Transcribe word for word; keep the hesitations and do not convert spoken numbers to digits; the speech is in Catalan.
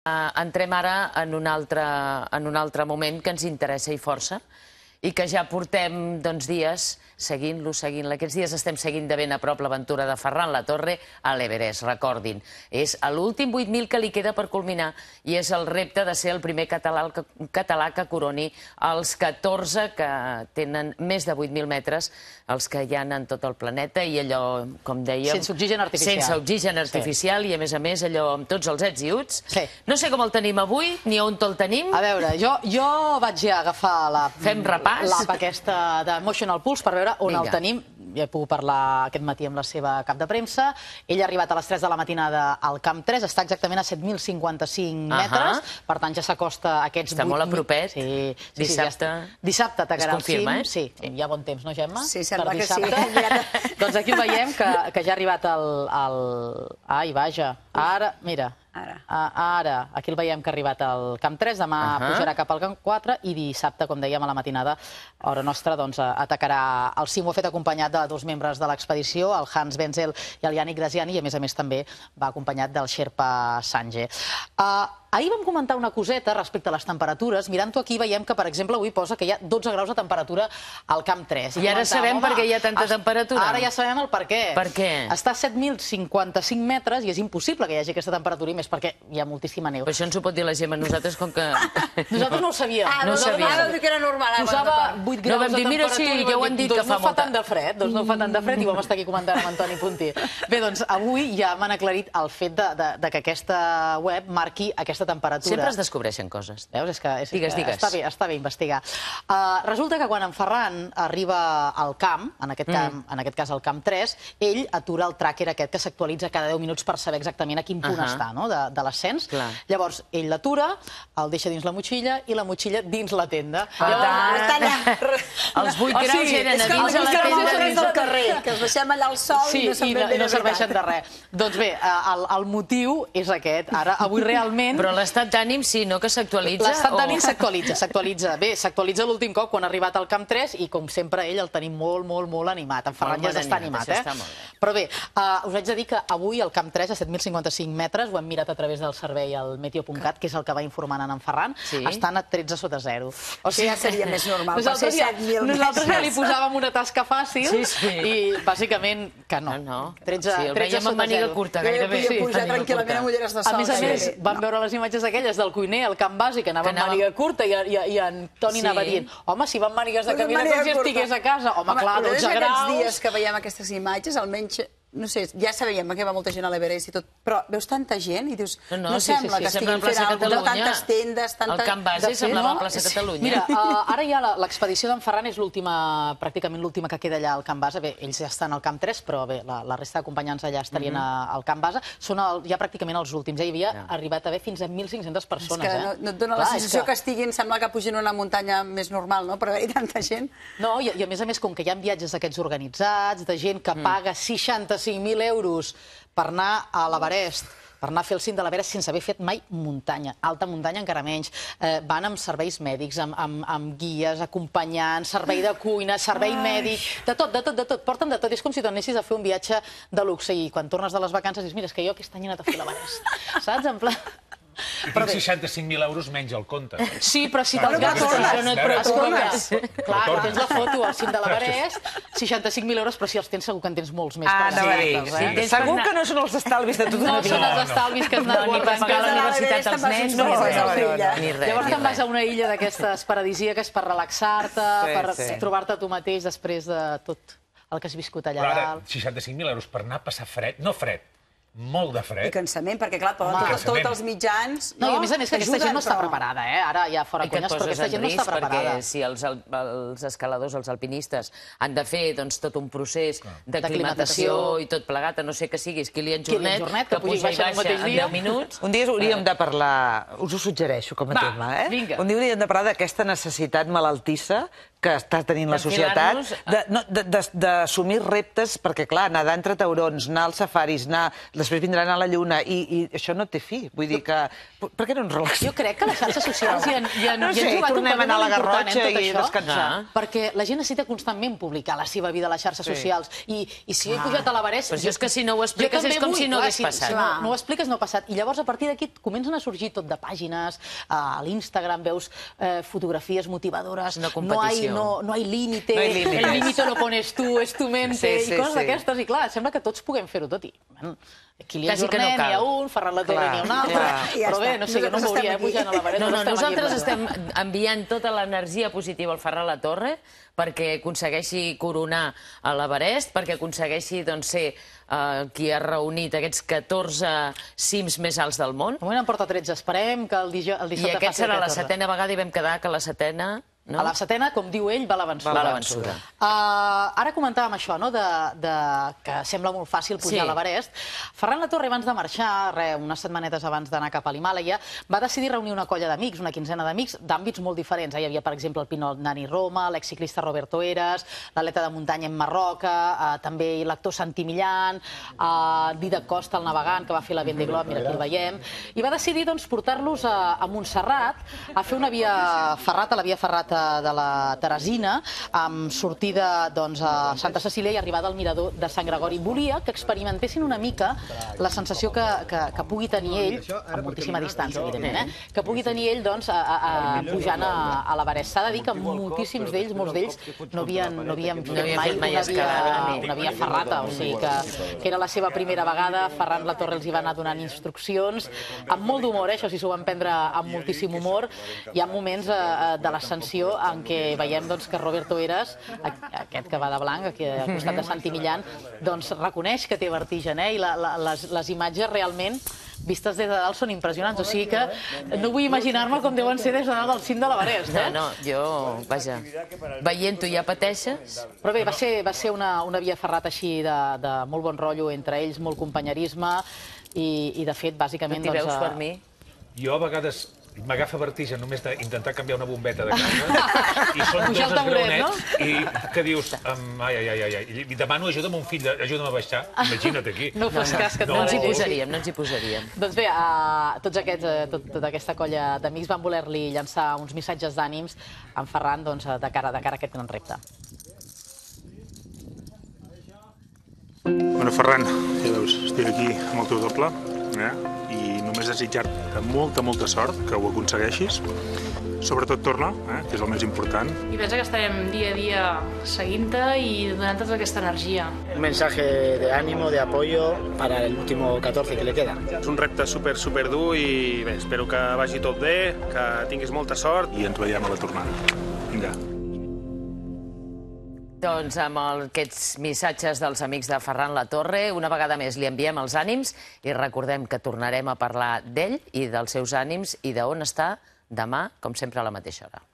Entrem ara en un altre, en un altre moment que ens interessa i força i que ja portem doncs, dies seguint-lo, seguint-lo. Aquests dies estem seguint de ben a prop l'aventura de Ferran Latorre a l'Everest, recordin. És l'últim vuit mil que li queda per culminar i és el repte de ser el primer català que, català que coroni els catorze que tenen més de vuit mil metres, els que hi ha en tot el planeta i allò, com dèiem... Sense oxigen artificial. Sense oxigen artificial sí. I, a més a més, allò amb tots els ets i uts. Sí. No sé com el tenim avui, ni on el tenim. A veure, jo, jo vaig ja agafar la... Fem repàs. L'app aquesta d'Emotional Pulse per veure on Vinga. El tenim. Ja he pogut parlar aquest matí amb la seva cap de premsa. Ell ha arribat a les tres de la matinada al Camp tres, està exactament a set mil cinquanta-cinc metres, uh -huh. per tant ja s'acosta a aquests està vuit... Està molt a propet. Sí, sí, dissabte... Sí, ja dissabte atacarà el cim. Eh? Sí, hi ha bon temps, no, Gemma? Sí, sembla que sí. Doncs aquí ho veiem, que, que ja ha arribat el... el... Ai, vaja. Ara, mira... Ara. Ara, aquí el veiem que ha arribat al Camp tres, demà uh -huh. pujarà cap al Camp quatre i dissabte, com dèiem, a la matinada, hora nostra, doncs, atacarà el cim. Ho ha fet acompanyat de dos membres de l'expedició, el Hans Wenzel i el Yannick Graziani, i a més a més també va acompanyat del Sherpa Sangye. Uh, Ahir vam comentar una coseta respecte a les temperatures. Mirant-ho aquí veiem que, per exemple, avui posa que hi ha dotze graus de temperatura al Camp tres. I ara sabem per què hi ha tanta temperatura. Ara ja sabem el per què. Per què? Està a set mil cinquanta-cinc metres i és impossible que hi hagi aquesta temperatura, i més perquè hi ha moltíssima neu. Però això ens ho pot dir la Gemma. Nosaltres, com que... Nosaltres no ho sabíem. Ah, no ho sabíem. Ara vam dir que era normal. Posava vuit graus de temperatura. No vam dir, mira, sí, ja ho han dit que fa molta... Doncs no fa tant de fred, doncs no fa tant de fred, i vam estar aquí comentant amb Antoni Puntí. Bé, doncs avui ja m'han aclarit el fet de que aquesta web marqui aquesta temperatura. Sempre es descobreixen coses. Veus? És que, és digues, que digues. Està bé, està bé investigar. Uh, resulta que quan en Ferran arriba al camp, en aquest, camp, mm. en aquest cas al Camp tres, ell atura el tracker aquest que s'actualitza cada deu minuts per saber exactament a quin punt uh -huh. està, no?, de, de l'ascens. Llavors, ell l'atura, el deixa dins la motxilla i la motxilla dins la tenda. Per tant, els vuit graus oh, sí, eren a dins de la tenda, dins del carrer, que els deixem allà al sol sí, i no se'n i no, i no serveixen de res. Doncs bé, el, el motiu és aquest. Ara, avui realment... Però l'estat d'ànim sí, no?, que s'actualitza? L'estat d'ànim s'actualitza, s'actualitza. Bé, s'actualitza l'últim cop quan ha arribat al Camp tres i, com sempre, ell el tenim molt, molt, molt animat. En Ferran ja està animat, eh? Però bé, us haig de dir que avui al Camp tres, a set mil cinquanta-cinc metres, ho hem mirat a través del servei al meteo punt cat, que és el que va informant en Ferran, estan a tretze sota zero. O sigui, ja seria més normal per ser set mil metres. Nosaltres ja li posàvem una tasca fàcil i, bàsicament, que no. tretze sota zero. Sí, el veiem amb màniga curta, gairebé. Podia pujar tranquil·lament amb ulleres de sol. A més a més, vam veure les imatges aquelles del cuiner, el Camp Bàsic, que anava amb màniga curta i en Toni anava dient, home, si van mànigues de camina com si estigués a casa. Home, clar, dotze graus... Aquests dies que veiem aquestes imatges, almenys... No sé, ja sabíem que va molta gent a l'Everest i tot, però veus tanta gent i dius, no sembla que estiguin fent alguna cosa, tantes tendes, tantes... El Camp Bàsic semblava la plaça Catalunya. Mira, ara ja l'expedició d'en Ferran és l'última, pràcticament l'última que queda allà al Camp Base. Bé, ells ja estan al Camp tres, però bé, la resta d'acompanyants allà estarien al Camp Base. Són ja pràcticament els últims. Ja hi havia arribat a haver fins a mil cinc-centes persones. És que no et dona la sensació que estiguin, sembla que pugin una muntanya més normal, no?, per haver-hi tanta gent. No, i a més a més, com que hi ha viatges d'aquests organitzats, de gent que paga seixanta-cinc mil euros per anar a l'Everest, per anar a fer el cim de l'Everest sense haver fet mai muntanya, alta muntanya encara menys. Van amb serveis mèdics, amb guies, acompanyants, servei de cuina, servei mèdic, de tot, de tot, de tot. Porten de tot. És com si t'anessis a fer un viatge de luxe i quan tornes de les vacances dius, mira, és que jo aquest any he anat a fer l'Everest. Saps? En plan... I tinc seixanta-cinc mil euros menys al compte. Sí, però si te'ls gastes... Això no et preocupes. Clar, tens la foto al cim de l'Everest, seixanta-cinc mil euros, però si els tens segur que en tens molts més. Segur que no són els estalvis de tota una vida. No són els estalvis que has anat guardant. Ni per pagar la universitat als nens, ni res. Llavors te'n vas a una illa d'aquestes paradisíaques per relaxar-te, per trobar-te tu mateix després de tot el que has viscut allà dalt. Però ara, seixanta-cinc mil euros per anar a passar fred, no fred, molt de fred. I cansament, perquè clar, tots els mitjans... No, i a més a més que aquesta gent no està preparada, eh? Ara ja fora conyes, però aquesta gent no està preparada. Perquè si els escaladors, els alpinistes, han de fer tot un procés d'aclimatació i tot plegat, a no ser que siguis Kilian Jornet, que puja i baixa en deu minuts... Un dia hauríem de parlar, us ho suggereixo com a tema, eh? Un dia hauríem de parlar d'aquesta necessitat malaltissa que està tenint la societat, d'assumir reptes, perquè, clar, nedar entre taurons, anar als safaris, anar... després vindran a la lluna, i això no té fi. Vull dir que... Per què no ens relaxem? Jo crec que les xarxes socials hi han jugat un paper tornem a anar a la Garrotxa i descansar. Perquè la gent necessita constantment publicar la seva vida a les xarxes socials. I si he pujat a l'Everest... Però és que si no ho expliques és com si no hagués passat. No ho expliques, no ha passat. I llavors, a partir d'aquí, comencen a sorgir tot de pàgines, a l'Instagram veus fotografies motivadores, no hi límit, el límite lo pones tu, és tu mente, i coses d'aquestes, i clar, sembla que tots puguem fer-ho tot, i Kilian Jornet n'hi ha un, Ferran Latorre n'hi ha un altre, però bé, no sé, jo no m'hauria pujant a l'Everest. No, no, nosaltres estem enviant tota l'energia positiva al Ferran Latorre perquè aconsegueixi coronar a l'Everest, perquè aconsegueixi ser qui ha reunit aquests catorze cims més alts del món. De moment en porta tretze, esperem que el dissabte faci el catorze. I aquest serà la setena vegada i vam quedar que la setena... A la setena, com diu ell, va la vençuda. Ara comentàvem això, que sembla molt fàcil pujar a l'Everest. Ferran Latorre, abans de marxar, unes setmanetes abans d'anar cap a l'Himàlaia, va decidir reunir una colla d'amics, una quinzena d'amics, d'àmbits molt diferents. Hi havia, per exemple, el Pinot Nani Roma, l'exciclista Roberto Eras, l'atleta de muntanya en Marroca, també l'actor Santi Millán, Dídac Costa, el navegant, que va fer la Vendée Globe, mira, aquí el veiem, i va decidir portar-los a Montserrat a fer una via ferrata, la via ferrata de la Teresina, amb sortida a Santa Cecília i arribada al mirador de Sant Gregori. Volia que experimentessin una mica la sensació que pugui tenir ell, a moltíssima distància, evidentment, que pugui tenir ell pujant a l'Everest. S'ha de dir que moltíssims d'ells, molts d'ells, no havien fet mai una via ferrata, o sigui que era la seva primera vegada. Ferran Latorre els hi va anar donant instruccions, amb molt d'humor, això sí, s'ho van prendre amb moltíssim humor. Hi ha moments de l'ascensió en què veiem que Roberto Eras, aquest que va de blanc, aquí al costat de Santi Millán, reconeix que té vertigen, i les imatges realment vistes des de dalt són impressionants, o sigui que no vull imaginar-me com deuen ser des de dalt del cim de l'Everest. No, no, jo, vaja, veient-ho ja pateixes. Però bé, va ser una via ferrata així de molt bon rotllo entre ells, molt companyerisme, i de fet, bàsicament... No t'hi veus per mi? Jo a vegades m'agafa vertigen només d'intentar canviar una bombeta de casa i són dos esgraonets i que dius, ai, ai, ai, ai, i demano ajuda a mon fill, ajuda'm a baixar, imagina't aquí. No fos cas que et no ens hi posaríem, no ens hi posaríem. Doncs bé, tots aquests, tota aquesta colla d'amics van voler-li llançar uns missatges d'ànims a en Ferran de cara a aquest gran repte. Bueno, Ferran, ja veus, estic aquí amb el teu doble, i només desitjar-te molta, molta sort, que ho aconsegueixis. Sobretot torna, que és el més important. I pensa que estarem dia a dia seguint-te i donant-te tota aquesta energia. Un mensaje de ánimo, de apoyo para el último catorce que le queda. És un repte super, super dur i bé, espero que vagi tot bé, que tinguis molta sort i ens veiem a la tornada. Vinga. Doncs amb aquests missatges dels amics de Ferran Latorre, una vegada més li enviem els ànims i recordem que tornarem a parlar d'ell i dels seus ànims i d'on està demà, com sempre, a la mateixa hora.